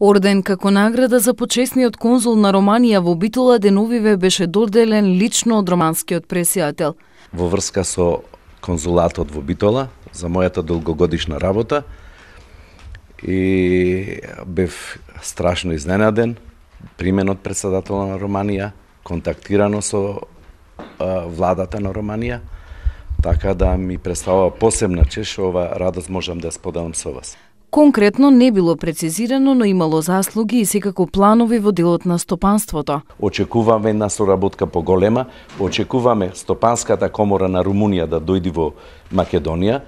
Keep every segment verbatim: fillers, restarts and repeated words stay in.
Орден како награда за почесниот конзул на Романија во Битола деновиве беше доделен лично од романскиот пресијател. Во врска со конзулатот во Битола за мојата долгогодишна работа и бев страшно изненаден, примен од председател на Романија, контактирано со а, владата на Романија, така да ми представува посебна чест, ова радост можам да споделам со вас. Конкретно не било прецизирано, но имало заслуги и секако планови во делот на стопанството. Очекуваме една соработка поголема, очекуваме Стопанската комора на Румунија да дојде во Македонија,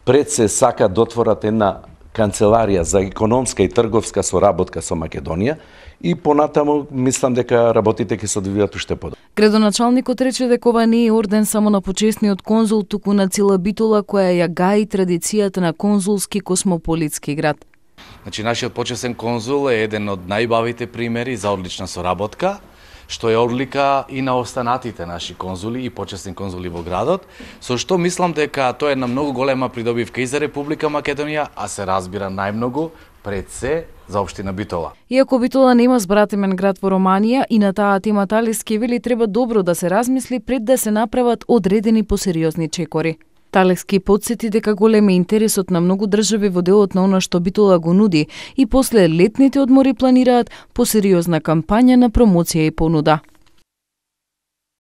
пред се сака да отворат една канцеларија за економска и трговска соработка со Македонија и понатаму мислам дека работите ќе се одвијат уште подобро. Градоначалникот рече дека ова не е орден само на почесниот конзул, туку на цела Битола која ја гаи традицијата на конзулски космополитски град. Значи, нашиот почесен конзул е еден од најбавите примери за одлична соработка, што е одлика и на останатите наши конзули и почесни конзули во градот, со што мислам дека тоа е една многу голема придобивка и за Република Македонија, а се разбира најмногу пред се за општина Битола. Иако Битола нема збратимен град во Романија, и на таа тема Талевски вели треба добро да се размисли пред да се направат одредени посериозни чекори. Талевски потсети дека голем е интересот на многу држави во делот на она што Битола го нуди и после летните одмори планираат посериозна кампања на промоција и понуда.